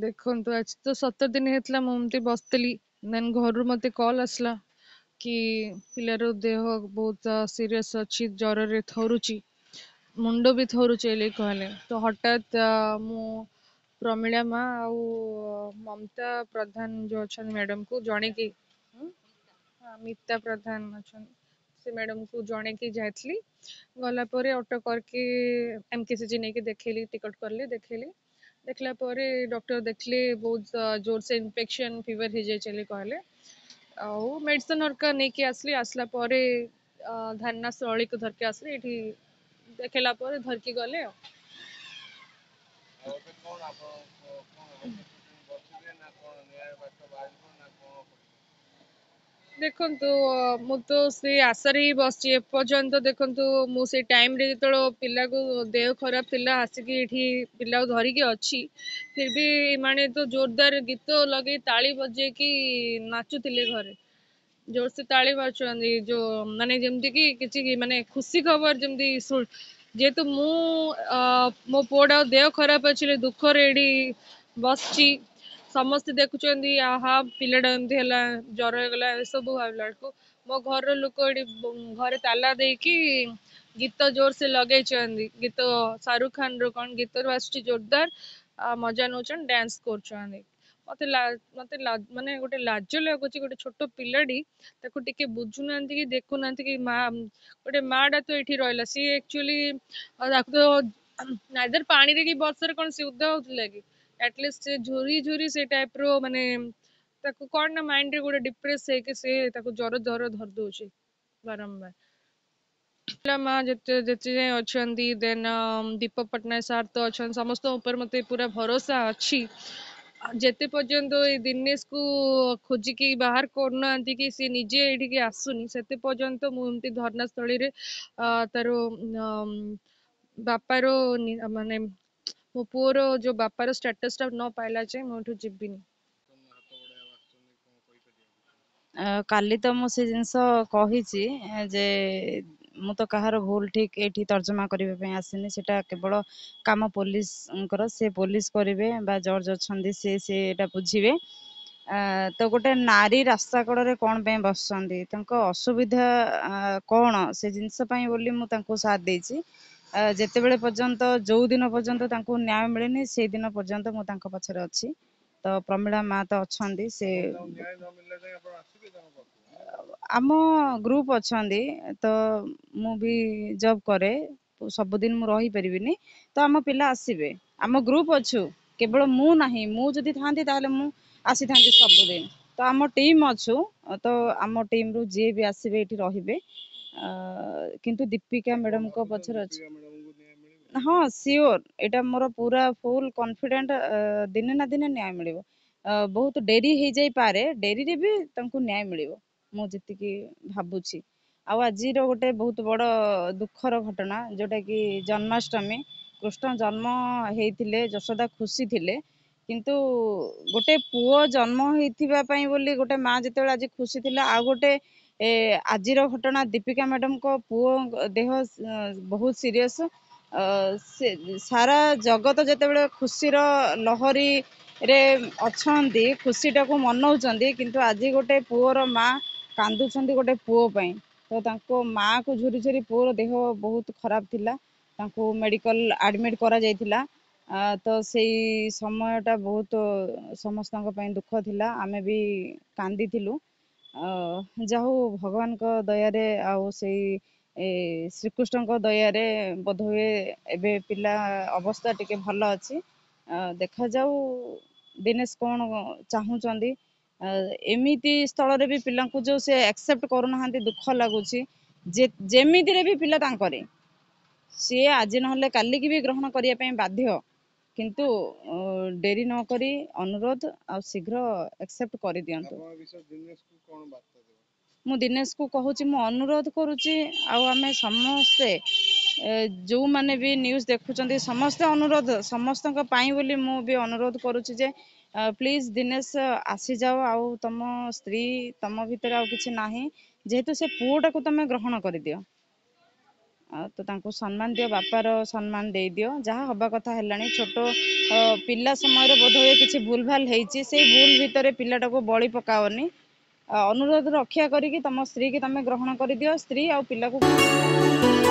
ଦେଖନ୍ତୁ, ଆଜି ତ 17 ଦିନ ହେଇଥିଲା, ମୁଁ ଏମିତି ବସିଥିଲି, ଦେନ୍ ଘରୁ ମୋତେ କଲ୍ ଆସିଲା କି ପିଲାର ଦେହ ବହୁତ ସିରିୟସ୍ ଅଛି, ଜ୍ୱରରେ ଥରୁଛି, ମୁଣ୍ଡ ବି ଥରୁଛି ବୋଲି କହିଲେ। ତ ହଠାତ୍ ମୁଁ ପ୍ରମିଳା ମା ଆଉ ମମତା ପ୍ରଧାନ ଯେଉଁ ଅଛନ୍ତି ମ୍ୟାଡ଼ାମକୁ ଜଣେଇକି, ମିତା ପ୍ରଧାନ ଅଛନ୍ତି ସେ ମ୍ୟାଡ଼ାମକୁ ଜଣେଇକି ଯାଇଥିଲି। ଗଲା ପରେ ଅଟୋ କରିକି ଏମ୍ କେ ସି ଜି ନେଇକି ଦେଖେଇଲି, ଟିକଟ କଲି, ଦେଖେଇଲି। ଦେଖିଲା ପରେ ଡକ୍ଟର ଦେଖିଲେ ବହୁତ ଜୋରସେ ଇନଫେକ୍ସନ୍ ଫିଭର ହେଇଯାଇଛି ବୋଲି କହିଲେ, ଆଉ ମେଡ଼ିସିନ ହରିକା ନେଇକି ଆସିଲି। ଆସିଲା ପରେ ଧାରଣାସ୍ଥଳୀକୁ ଧରିକି ଆସିଲି, ଏଇଠି ଦେଖେଇଲା ପରେ ଧରିକି ଗଲେ। ଆଉ ଏବେ କଣ ଆପଣ କଣ ବସିବେ ନା କଣ, ନ୍ୟାୟ ବାଟ ବାହାରିବ ନା କଣ କରିବେ? ଦେଖନ୍ତୁ, ମୁଁ ତ ସେଇ ଆଶାରେ ହିଁ ବସିଛି ଏପର୍ଯ୍ୟନ୍ତ। ଦେଖନ୍ତୁ, ମୁଁ ସେଇ ଟାଇମ୍ରେ ଯେତେବେଳେ ପିଲାକୁ ଦେହ ଖରାପ ଥିଲା, ଆସିକି ଏଇଠି ପିଲାକୁ ଧରିକି ଅଛି, ଫିର୍ ବି ଏମାନେ ତ ଜୋରଦାର ଗୀତ ଲଗେଇ ତାଳି ବଜେଇକି ନାଚୁଥିଲେ, ଘରେ ଜୋରସେ ତାଳି ମାରୁଛନ୍ତି, ଯୋଉ ମାନେ ଯେମିତିକି କିଛି ମାନେ ଖୁସି ଖବର ଯେମିତି। ଯେହେତୁ ମୁଁ ମୋ ପୁଅଟା ଦେହ ଖରାପ ଅଛି, ଦୁଃଖରେ ଏଇଠି ବସିଛି, ସମସ୍ତେ ଦେଖୁଛନ୍ତି, ଆହା ପିଲାଟା ଏମିତି ହେଲା, ଜ୍ୱର ହେଇଗଲା, ଏସବୁ ଭାବିଲା ବେଳକୁ ମୋ ଘରର ଲୋକ ଏଠି ଘରେ ତାଲା ଦେଇକି ଗୀତ ଜୋରସେ ଲଗେଇଛନ୍ତି। ଗୀତ ଶାହରୁଖ ଖାନର କଣ ଗୀତ ଆସୁଛି, ଜୋରଦାର ମଜା ନଉଛନ୍ତି, ଡ୍ୟାନ୍ସ କରୁଛନ୍ତି। ମତେ ମତେ ମାନେ ଗୋଟେ ଲାଜ ଲାଗୁଛି। ଗୋଟେ ଛୋଟ ପିଲାଟି, ତାକୁ ଟିକେ ବୁଝୁନାହାନ୍ତି କି ଦେଖୁନାହାନ୍ତି କି ମା, ଗୋଟେ ମା ଟା ତ ଏଇଠି ରହିଲା। ସିଏ ଆକ୍ଚୁଆଲି ତାକୁ ତ ନାଇଦର ପାଣିରେ କି ବର୍ଷାରେ କଣ ସେ ଓଦା ହଉଥିଲା କି ଆଟଲିଷ୍ଟ ସେ ଝୁରି ଝୁରି ସେ ଟାଇପର, ମାନେ ତାକୁ କଣ ନା ମାଇଣ୍ଡରେ ଗୋଟେ ଡିପ୍ରେସ ହେଇକି ସେ ତାକୁ ଜ୍ୱର ଜର ଧରି ଦଉଛି ବାରମ୍ବାର। ମା ଯେତେ ଯେତେ ଯାଏଁ ଅଛନ୍ତି, ଦେନ୍ ଦୀପକ ପଟ୍ଟନାୟକ ସାର୍ ତ ଅଛନ୍ତି, ସମସ୍ତଙ୍କ ଉପରେ ମତେ ପୁରା ଭରସା ଅଛି। ଯେତେ ପର୍ଯ୍ୟନ୍ତ ଏଇ ଦିନେଶକୁ ଖୋଜିକି ବାହାର କରୁନାହାନ୍ତି କି ସେ ନିଜେ ଏଇଠିକି ଆସୁନି, ସେତେ ପର୍ଯ୍ୟନ୍ତ ମୁଁ ଏମିତି ଧର୍ଣ୍ଣାସ୍ଥଳୀରେ ତାର ବାପାର, ମାନେ ମୋ ପୁଅର ଯୋଉ ବାପାର ଷ୍ଟାଟସଟା ନ ପାଇଲା ଯାଏଁ ମୁଁ ଏଠୁ ଯିବିନି। କାଲି ତ ମୁଁ ସେ ଜିନିଷ କହିଛି ଯେ ମୁଁ ତ କାହାର ଭୁଲ ଠିକ ଏଇଠି ତର୍ଜମା କରିବା ପାଇଁ ଆସିନି। ସେଟା କେବଳ କାମ ପୋଲିସଙ୍କର, ସେ ପୋଲିସ କରିବେ ବା ଜର୍ଜ ଅଛନ୍ତି, ସେ ସେଇଟା ବୁଝିବେ। ତ ଗୋଟେ ନାରୀ ରାସ୍ତା କଡ଼ରେ କଣ ପାଇଁ ବସିଛନ୍ତି, ତାଙ୍କ ଅସୁବିଧା କଣ, ସେ ଜିନିଷ ପାଇଁ ବୋଲି ମୁଁ ତାଙ୍କୁ ସାଥ ଦେଇଛି। ଯେତେବେଳେ ପର୍ଯ୍ୟନ୍ତ, ଯୋଉ ଦିନ ପର୍ଯ୍ୟନ୍ତ ତାଙ୍କୁ ନ୍ୟାୟ ମିଳିନି, ସେଇ ଦିନ ପର୍ଯ୍ୟନ୍ତ ମୁଁ ତାଙ୍କ ପଛରେ ଅଛି। ତ ପ୍ରମିଳା ମା ତ ଅଛନ୍ତି, ସେ ଆମ ଗ୍ରୁପ ଅଛନ୍ତି। ତ ମୁଁ ବି ଜବ୍ କରେ, ସବୁଦିନ ମୁଁ ରହିପାରିବିନି, ତ ଆମ ପିଲା ଆସିବେ। ଆମ ଗ୍ରୁପ ଅଛୁ, କେବଳ ମୁଁ ନାହିଁ। ମୁଁ ଯଦି ଥାନ୍ତି ତାହେଲେ ମୁଁ ଆସିଥାନ୍ତି ସବୁଦିନ। ତ ଆମ ଟିମ୍ ଅଛୁ, ତ ଆମ ଟିମ୍ରୁ ଯିଏ ବି ଆସିବେ ଏଇଠି ରହିବେ, କିନ୍ତୁ ଦୀପିକା ମ୍ୟାଡ଼ାମଙ୍କ ପଛରେ ଅଛି। ହଁ, ସିଓର, ଏଇଟା ମୋର ପୁରା ଫୁଲ୍ କନଫିଡେଣ୍ଟ, ଦିନେ ନା ଦିନେ ନ୍ୟାୟ ମିଳିବ। ବହୁତ ଡେରି ହେଇଯାଇପାରେ, ଡେରିରେ ବି ତାଙ୍କୁ ନ୍ୟାୟ ମିଳିବ ମୁଁ ଯେତିକି ଭାବୁଛି। ଆଉ ଆଜିର ଗୋଟେ ବହୁତ ବଡ଼ ଦୁଃଖର ଘଟଣା, ଯୋଉଟାକି ଜନ୍ମାଷ୍ଟମୀ, କୃଷ୍ଣ ଜନ୍ମ ହେଇଥିଲେ, ଯଶୋଦା ଖୁସି ଥିଲେ, କିନ୍ତୁ ଗୋଟେ ପୁଅ ଜନ୍ମ ହେଇଥିବା ପାଇଁ ବୋଲି ଗୋଟେ ମା ଯେତେବେଳେ ଆଜି ଖୁସି ଥିଲା, ଆଉ ଗୋଟେ ଆଜିର ଘଟଣା, ଦୀପିକା ମ୍ୟାଡ଼ାମଙ୍କ ପୁଅ ଦେହ ବହୁତ ସିରିୟସ୍। ସେ ସାରା ଜଗତ ଯେତେବେଳେ ଖୁସିର ଲହରୀରେ ଅଛନ୍ତି, ଖୁସିଟାକୁ ମନଉଛନ୍ତି, କିନ୍ତୁ ଆଜି ଗୋଟେ ପୁଅର ମା କାନ୍ଦୁଛନ୍ତି ଗୋଟେ ପୁଅ ପାଇଁ। ତ ତାଙ୍କ ମାଆକୁ ଝୁରି ଝୁରି, ପୁଅର ଦେହ ବହୁତ ଖରାପ ଥିଲା, ତାଙ୍କୁ ମେଡ଼ିକାଲ ଆଡ଼ମିଟ୍ କରାଯାଇଥିଲା। ତ ସେଇ ସମୟଟା ବହୁତ ସମସ୍ତଙ୍କ ପାଇଁ ଦୁଃଖ ଥିଲା, ଆମେ ବି କାନ୍ଦିଥିଲୁ। ଯାହା ହଉ, ଭଗବାନଙ୍କ ଦୟାରେ ଆଉ ସେଇ ଶ୍ରୀକୃଷ୍ଣଙ୍କ ଦୟାରେ ବୋଧହୁଏ ଏବେ ପିଲା ଅବସ୍ଥା ଟିକେ ଭଲ ଅଛି। ଦେଖାଯାଉ ଦିନେଶ କଣ ଚାହୁଁଛନ୍ତି। ଏମିତି ସ୍ଥଳରେ ବି ପିଲାଙ୍କୁ ଯୋଉ ସେ ଆକ୍ସେପ୍ଟ କରୁନାହାନ୍ତି, ଦୁଃଖ ଲାଗୁଛି। ଯେ ଯେମିତିରେ ବି ପିଲା ତାଙ୍କରି, ସିଏ ଆଜି ନହେଲେ କାଲିକି ବି ଗ୍ରହଣ କରିବା ପାଇଁ ବାଧ୍ୟ, କିନ୍ତୁ ଡେରି ନ କରି ଅନୁରୋଧ, ଆଉ ଶୀଘ୍ର ଆକ୍ସେପ୍ଟ କରିଦିଅନ୍ତୁ। ମୁଁ ଦିନେଶକୁ କହୁଛି, ମୁଁ ଅନୁରୋଧ କରୁଛି, ଆଉ ଆମେ ସମସ୍ତେ ଯୋଉମାନେ ବି ନ୍ୟୁଜ୍ ଦେଖୁଛନ୍ତି, ସମସ୍ତେ ଅନୁରୋଧ, ସମସ୍ତଙ୍କ ପାଇଁ ବୋଲି ମୁଁ ବି ଅନୁରୋଧ କରୁଛି ଯେ ପ୍ଲିଜ୍ ଦିନେଶ ଆସିଯାଅ, ଆଉ ତମ ସ୍ତ୍ରୀ ତମ ଭିତରେ ଆଉ କିଛି ନାହିଁ, ଯେହେତୁ ସେ ପୁଅଟାକୁ ତମେ ଗ୍ରହଣ କରିଦିଅ। ତ ତାଙ୍କୁ ସମ୍ମାନ ଦିଅ, ବାପାର ସମ୍ମାନ ଦେଇଦିଅ। ଯାହା ହବା କଥା ହେଲାଣି। ଛୋଟ ପିଲା ସମୟରେ ବୋଧହୁଏ କିଛି ଭୁଲ ଭାଲ ହେଇଛି, ସେଇ ଭୁଲ ଭିତରେ ପିଲାଟାକୁ ବଳି ପକାଅନି। ଅନୁରୋଧ ରକ୍ଷା କରିକି ତମ ସ୍ତ୍ରୀକି ତମେ ଗ୍ରହଣ କରିଦିଅ, ସ୍ତ୍ରୀ ଆଉ ପିଲାକୁ।